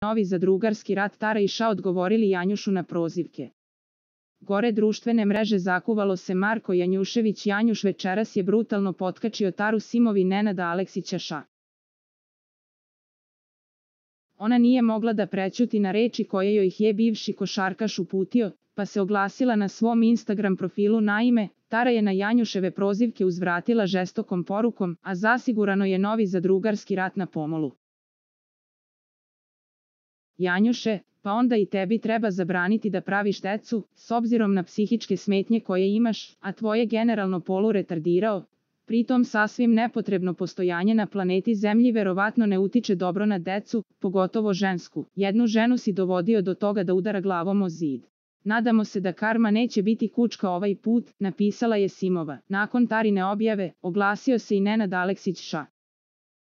novi zadrugarski rat Tara i Ša odgovorili Janjušu na prozivke. Gore društvene mreže zakuvalo se Marko Janjušević. Janjuš večeras je brutalno potkačio Taru simovi Nenada Aleksića Ša. Ona nije mogla da prećuti na reči koje joj je bivši košarkaš uputio, pa se oglasila na svom Instagram profilu. Naime, Tara je na Janjuševe prozivke uzvratila žestokom porukom, a zasigurano je novi zadrugarski rat na pomolu. Janjuše, pa onda i tebi treba zabraniti da praviš decu, s obzirom na psihičke smetnje koje imaš, a tvoje generalno polu retardirao. Pritom sasvim nepotrebno postojanje na planeti Zemlji verovatno ne utiče dobro na decu, pogotovo žensku. Jednu ženu si dovodio do toga da udara glavom o zid. Nadamo se da karma neće biti kučka ovaj put, napisala je simova. Nakon Tarine objave, oglasio se i Nenad Aleksić Ša.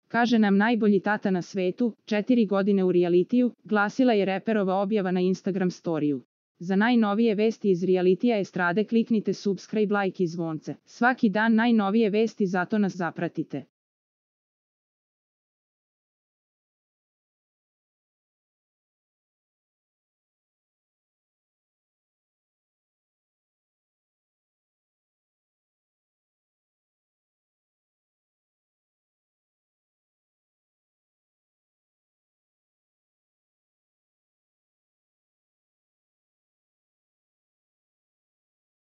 Kaže nam najbolji tata na svetu, 4 godine u realitiju, glasila je reperova objava na Instagram storiju. Za najnovije vesti iz realitija estrade kliknite subscribe, like i zvonce. Svaki dan najnovije vesti, zato nas zapratite.